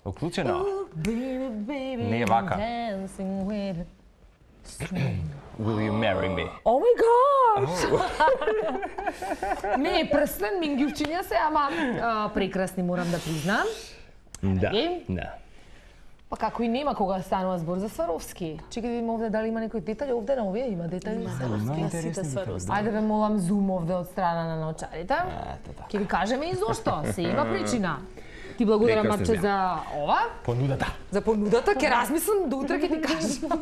Уклучено. Не е вака. Will you marry me? Oh my god! Не, прстен, мингивчиња се, ама прекрасни морам да признам. Да, да. Па како и нема кога станува збор за Сваровски. Чекај да видиме овде дали има некој детаљ, овде на овие има детаљи. Ајде ве молам зум овде од страна на научарите. Ќе ви кажеме и зошто, се има причина. Ти благодарам, Марче, за ова. Понудата. За понудата, ќе размислам до утре ќе ти кажам.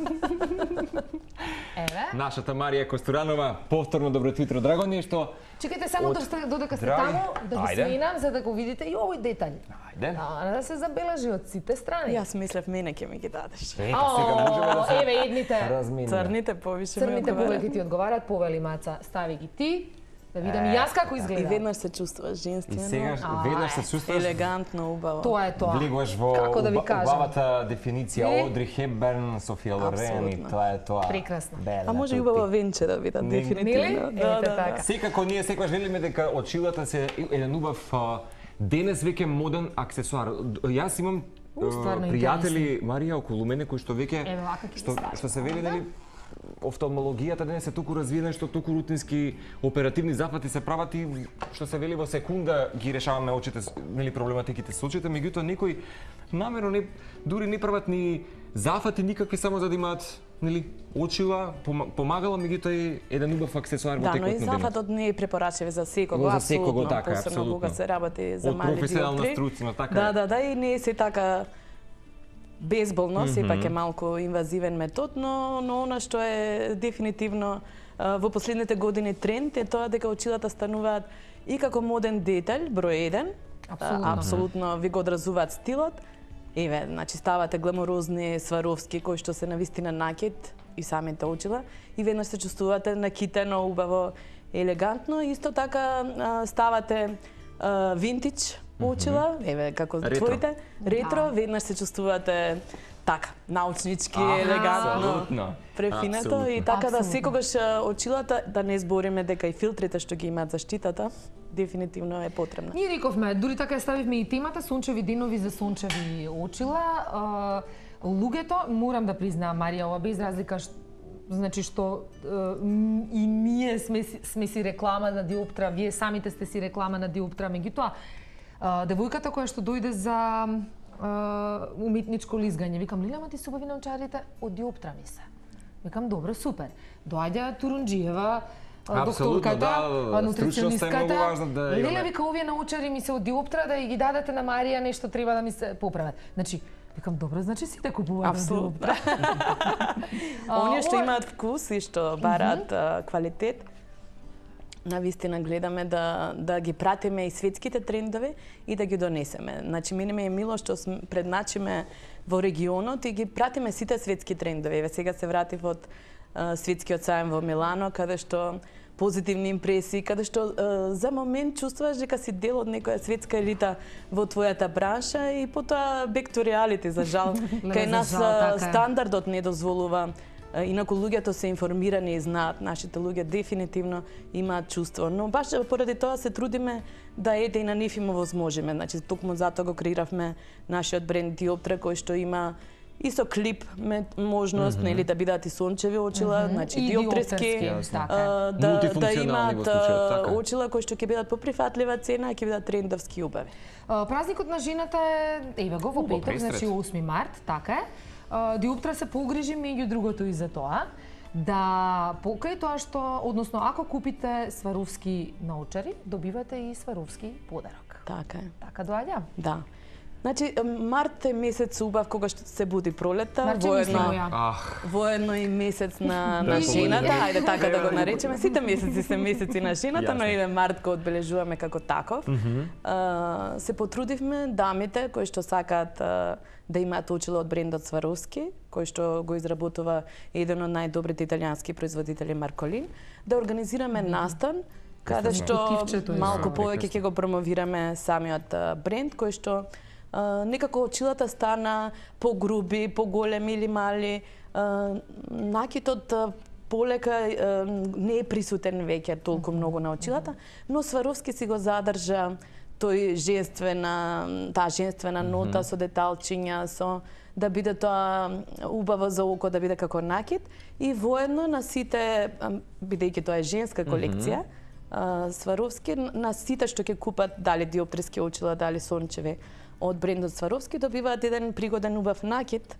Еве. Нашата Марија Костуранова, повторно добро утро, драго ни е што... Чекайте само додека сте таму, да ги сменам, за да го видите и овој детаљ. Ајде. Да се забележи од сите страни. Јас мислев мене ќе ми ги дадеш. Сега можеме да се... Еве, едните. Црните повише ми Црните одговарат. повеќе ти одговарат, повели Маца, стави ги ти. Да видам и јас како изгледа. И веднаш се чувствуваш женствено. И сега веднаш се чувствуваш... Елегантно, убаво. Тоа е тоа. Влегуваш во убавата дефиниција Одри Хепберн, Софија Лорен и тоа е тоа. Прекрасно. А може и убава венче да видат, дефинитивно. Да, така. Секако ние секогаш велиме дека очилата се еден убав денес веќе моден аксесуар. Јас имам пријатели Марија околу мене кои што веќе што се вели нели офталмологијата денес е толку развиена што толку рутински оперативни зафати се прават и што се вели во секунда ги решаваме очите, нели проблематиките со очите, меѓутоа некои намерно не дури не прават ни зафати никакви само за да имаат нели очила, помагала меѓутоа и еден убав аксесуар во текот на денот. Да, но и зафатот не е препорачив за секого, за секого, апсолутно, така, посебно кога се работи за мали диоптри. Од професионална струцина, така. Да, и не е се така безболно, сепак е малку инвазивен метод, но она што е дефинитивно во последните години тренд е тоа дека очилата стануваат и како моден детаљ, број 1, апсолутно ви го одразуваат стилот. Еве, значи ставате гламурозни Сваровски кои што се навистина накид и самите очила и веднаш се чувствувате накитено, убаво, елегантно. Исто така ставате винтидж очила, еве како твоите, ретро, веднаш се чувствувате така, научнички, елегантно, префинето и така да секогаш очилата, да не збориме дека и филтрите што ги имаат заштитата, дефинитивно е потребна. Ние рековме, дури така ја ставивме и темата сончеви денови за сончеви очила. Луѓето, морам да признаам, Марија, ова без разлика значи што и ние сме си реклама на диоптра, вие самите сте си реклама на диоптра, меѓутоа девојката која што дојде за уметничко лизгање, викам, Лилја, ма ти се убави научарите од диоптра ми се. Викам, добро, супер. Доаѓа Турунџиева, докторката, нутриционистката. Лилја, вика, овие научари ми се од диоптра, да ги дадете на Марија, нешто треба да ми се поправат. Значи, викам, добро, значи сите купуваат на диоптра. Оние што имаат вкус и што бараат квалитет, навистина гледаме да ги пратиме и светските трендови и да ги донесеме. Значи, мене ми е мило што предначиме во регионот и ги пратиме сите светски трендови. Еве сега се вратив од светскиот сајм во Милано, каде што позитивни импресии, каде што за момент чувствуваш дека си дел од некоја светска елита во твојата бранша и потоа back to reality, за жал. Кај нас стандардот не дозволува. Инаку луѓето се информирани и знаат, нашите луѓе дефинитивно имаат чувство, но баш поради тоа се трудиме да и на нив им овозможиме. Значи, токму затоа го креиравме нашиот бренд Диоптра, кој што има и со клип можност, нели, да бидат и сончеви очила, значи диоптриски, да имаат очила кои што ќе бидат по прифатлива цена, ќе бидат трендовски и убави. Празникот на жената е, еве го, во петок, значи 8 март, така е. Диоптра се погрижи меѓу другото и за тоа да покај тоа што, односно ако купите Сваровски научари, добивате и Сваровски подарок. Така е. Така доаѓа? Да. Значи, март е месец убав кога што се буди пролета, воедно и месец на жената, ајде така да го наречеме. Сите месеци се месеци на жената, но и март го одбележуваме како таков. Се потрудивме дамите кои што сакаат да имаат очила од брендот Сваровски, кој што го изработува еден од најдобрите италијански производители Марколин, да организираме настан каде што малку повеќе ќе го промовираме самиот бренд, кој што некако очилата стана погруби, поголеми или мали, накитот полека не е присутен веќе толку многу на очилата, но Сваровски си го задржа таа женствена нота со деталчиња, со да биде тоа убаво за око, да биде како накид и воедно на сите, бидејќи тоа е женска колекција, Сваровски, на сите што ќе купат дали диоптриски очила, дали сончеви од брендот Сваровски, добиваат еден пригоден убав накид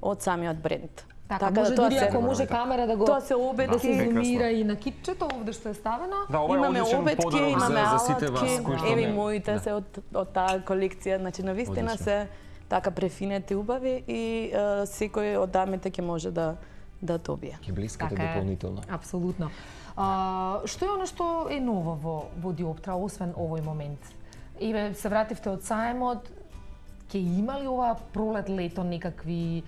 од самиот бренд. Така може дури ако може камера да го да се зумира и на китчето овде што е ставено. Имаме обетки, имаме алатки, еви моите се од таа колекција, значи навистина се така префинети убави и секој од дамите ќе може да добие. Ќе блискате дополнително. Апсолутно. Што е оно што е ново во Диоптра, освен овој момент? Еве, се вративте од сајмот, ќе има ли ова пролет, лето некакви,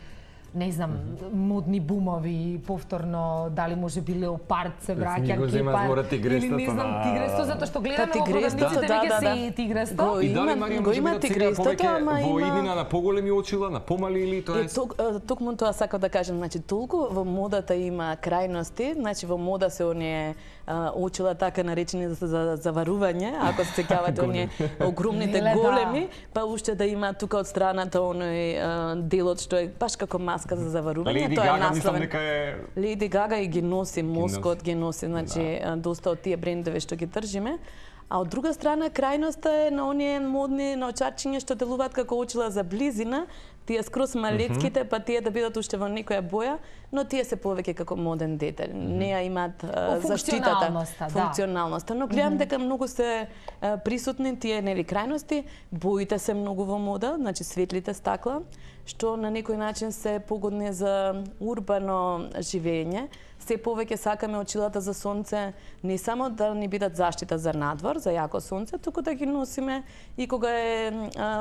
не знам, модни бумови, повторно, дали може би леопард се враќа, кепар, или не знам, тигресто, затоа што гледаме во продавниците веќе се и тигресто. И дали Марија може би да цитира повеќе во иднина на поголеми очила, на помали или тоа е? Токму тоа сакам да кажем, значи толку во модата има крајности, значи во мода се оние очила така наречени за заварување, ако се сеќавате оние огромните големи, па уште да има тука од страната оној делот што е баш како маска за заварување, тоа е насловен. Леди Гага и ги носи, Москот ги носи, значи доста од тие брендови што ги држиме. А од друга страна, крајноста е на оние модни наочарчиња што делуваат како очила за близина, тие скрос малетките, па тие да бидат уште во некоја боја, но тие се повеќе како моден детај. Не ја имаат заштитата, функционалноста. Но гледам дека многу се присутни тие нели крајности, боите се многу во мода, значи светлите стакла, што на некој начин се погодни за урбано живење. Се повеќе сакаме очилата за сонце не само да ни бидат заштита за надвор, за јако сонце, туку да ги носиме и кога е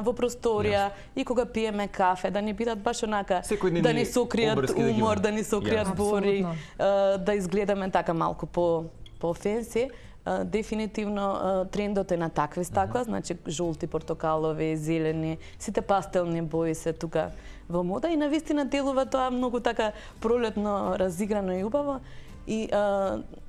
во просторија, и кога пиеме кафе, да ни бидат баш онака, да ни сокријат умор, да ни сокријат бори, да изгледаме така малку по фенси. Дефинитивно трендот е на такви стакла, значи жолти, портокалови, зелени, сите пастелни бои се тука во мода и навистина делува тоа многу така пролетно, разиграно и убаво. И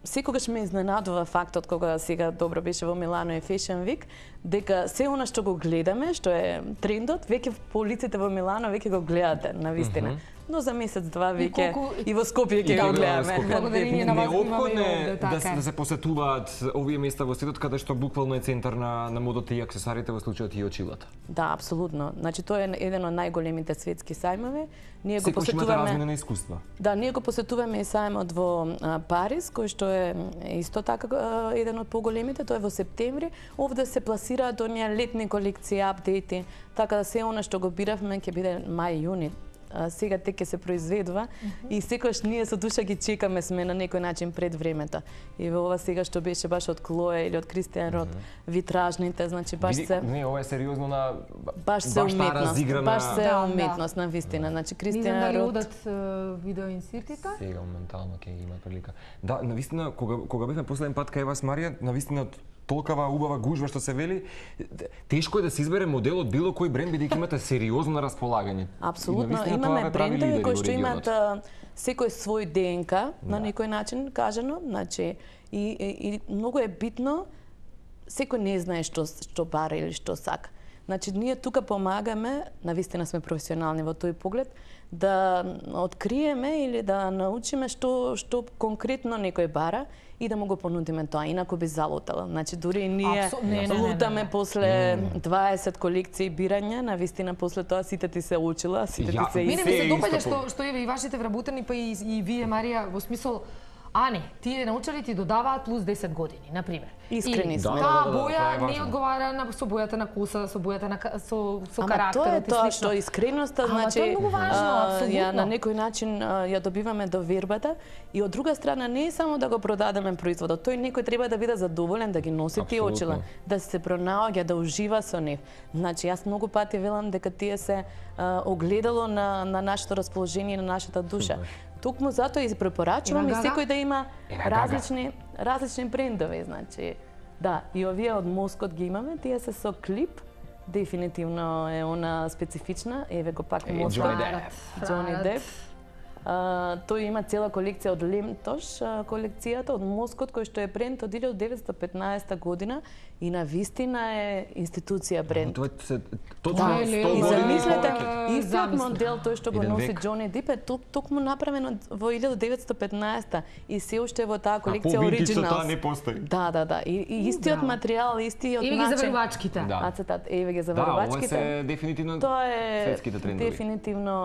секогаш ме изненадува фактот кога сега добро беше во Милано и Fashion Week, дека се она што го гледаме, што е трендот, веќе по улиците во Милано веќе го гледате навистина. Но за месец-два веќе и во Скопје ќе го гледаме. Благодарение на вас имаме да се посетуваат овие места во светот каде што буквално е центар на модата и аксесуарите, во случајот и очилата. Да, апсолутно. Значи тоа е еден од најголемите светски сајмови. Ние го посетуваме размена на искуства. Да, ние го посетуваме и сајмот во Париз, кој што е исто така еден од поголемите, тоа е во септември. Овде се пласираат оние летни колекции, апдејти, така да се она што го биравме ќе биде мај-јуни. Сега тек ќе се произведува и секогаш ние со душа ги чекаме, сме на некој начин пред времето. И во ова сега што беше баш од Клоe или од Кристијан Род, витражните, значи баш се не, ова е сериозно на баш се уметност, баш се уметност на вистина. Значи Кристијан Род одат видео инсертите. Сега моментално ќе има прилика. Да, навистина кога бевме последен пат кај вас, Марија, навистина толкава убава гужва што се вели, тешко е да се избере модел од било кој бренд бидејќи имате сериозно на располагање. Апсолутно, имаме брендови кои што имаат секој свој ДНК на некој начин кажано, значи и многу е битно, секој не знае што бара или што сака. Значи ние тука помагаме, навистина сме професионални во тој поглед, да откриеме или да научиме што конкретно некој бара и да му го понудиме тоа, инаку би залутала. Значи дури ние лутаме после 20 колекции бирање, навистина после тоа сите ти се учила, сите ти се Мене ми се допаѓа што еве и вашите вработени, па и вие, Марија, во смисол Ани, тие научали ти додаваат плюс 10 години, например. Искрени сме. Таа боја не одговара со бојата на коса, со бојата на со карактерот и слично. Тоа што искреноста, значи, тоа е многу важно, апсолутно. На некој начин ја добиваме довербата и од друга страна не е само да го продадеме производот, тој некој треба да биде задоволен да ги носи тие очила, да се пронаоѓа, да ужива со нив. Значи, јас многу пати велам дека тие се огледало на нашето расположение, на нашата душа. Токму затоа и препорачувам и секој да има различни брендови, значи. Да, и овие од Москот ги имаме, тие се со клип, дефинитивно е она специфична, еве го пак Москот. Джони Деп. Тој има цела колекција од Лемтош, колекцијата од мозгот кој што е бренд од 1915 година и на вистина е институција бренд. Точно и замислете, истиот модел тој што го носи Џони Дип е токму направен во 1915 и се уште во таа колекција оригинал. Таа не постои. Да. И истиот материјал, истиот начин. Еве ги заварувачките. Ацетат, еве ги заварувачките. Да, ова се дефинитивно светските трендови. Дефинитивно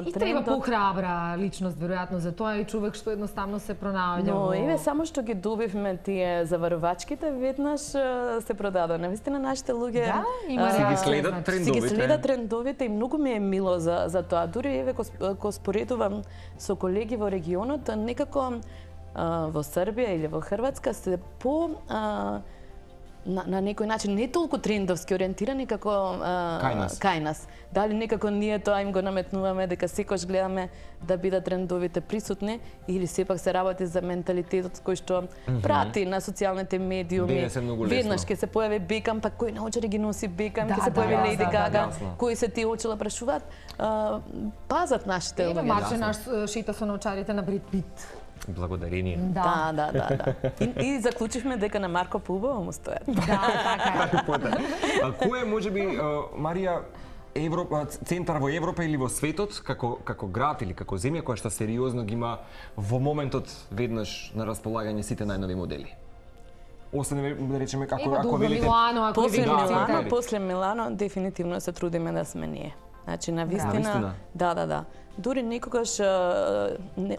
трендот. И треба похрабра личност веројатно за тоа и човек што едноставно се пронаоѓа. Но еве само што ги добивме тие заварувачките, веднаш се продадоа. Навистина нашите луѓе си ги следат трендовите. Си ги следат трендовите и многу ми е мило за тоа. Дури еве ко споредувам со колеги во регионот, некако во Србија или во Хрватска се по на некој начин не толку трендовски ориентирани како кај нас. Дали некако ние тоа им го наметнуваме дека секојаш гледаме да бидат трендовите присутни или сепак се работи за менталитетот кој што прати на социјалните медиуми. Веднаш ќе се појави Бекам, па кој научари ги носи Бекам, ќе се појави Леди Гага, кои се тие очила прашуваат. Пазат нашите луѓе. Марче наш шета со научарите на Бред Пит. Благодарение. Да. И заклучивме дека на Марко Пубово му стоят. Да, така е. Кој е можеби Марија центар во Европа или во светот како град или како земја која што сериозно ги има во моментот веднаш на располагање сите најнови модели? Освен да речеме ако велите после Милано дефинитивно се трудиме да сме ние. Значи на вистина, да. Дури некогаш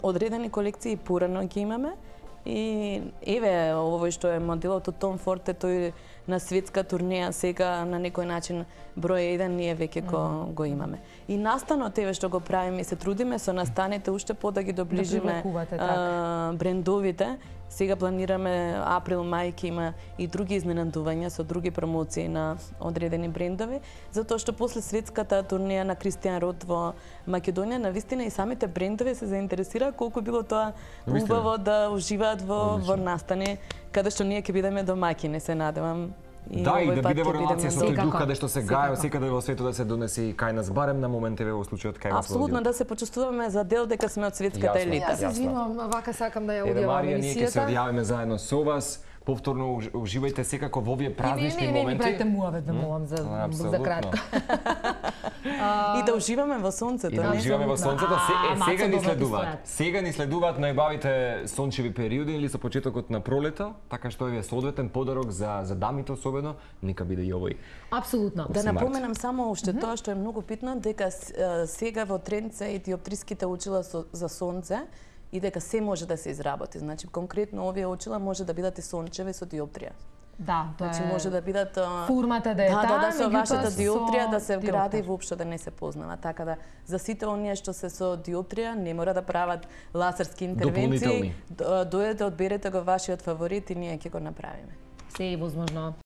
одредени колекции порано ги имаме и еве овој што е моделот од Том Форд, тој на светска турнеја сега на некој начин број 1 ние веќе го имаме. И настанот еве што го правиме и се трудиме со настаните уште по да ги доближиме брендовите. Сега планираме април, мај ќе има и други изненадувања со други промоции на одредени брендови, затоа што после светската турнеја на Кристијан Род во Македонија, навистина и самите брендови се заинтересира колку било тоа убаво да уживаат во настани, каде што ние ќе бидеме домаќини, се надевам. И да, и да биде во релација со тој дух каде што се гаја секаде во светот да се донесе и кај нас, барем на момент еве во случајот кај вас. Апсолутно да се почувствуваме за дел дека сме од светската елита. Јас извинувам, вака сакам да ја одјавам емисијата. Ние ќе се одјавиме заедно со вас. Повторно уживајте секако во овие празнични моменти. Не ми правите муавет да молам за кратко. И да уживаме во сонцето. И да уживаме во сонцето. Сега ни следуваат. Сега ни следуваат најбавите сончеви периоди или со почетокот на пролета, така што е соодветен подарок за дамите особено, нека биде и овој. Апсолутно. Да напоменам само уште тоа што е многу битно, дека сега во тренд се и диоптриските очила за сонце, и дека се може да се изработи. Значи, конкретно овие очила може да бидат и сончеви со диоптрија. Да, тоа значи, може да бидат формата да е таа, да со вашата диоптрија да се вгради и воопшто да не се познава. Така да за сите оние што се со диоптрија не мора да прават лазерски интервенции. Дојдете, одберете го вашиот фаворит и ние ќе го направиме. Се е возможно.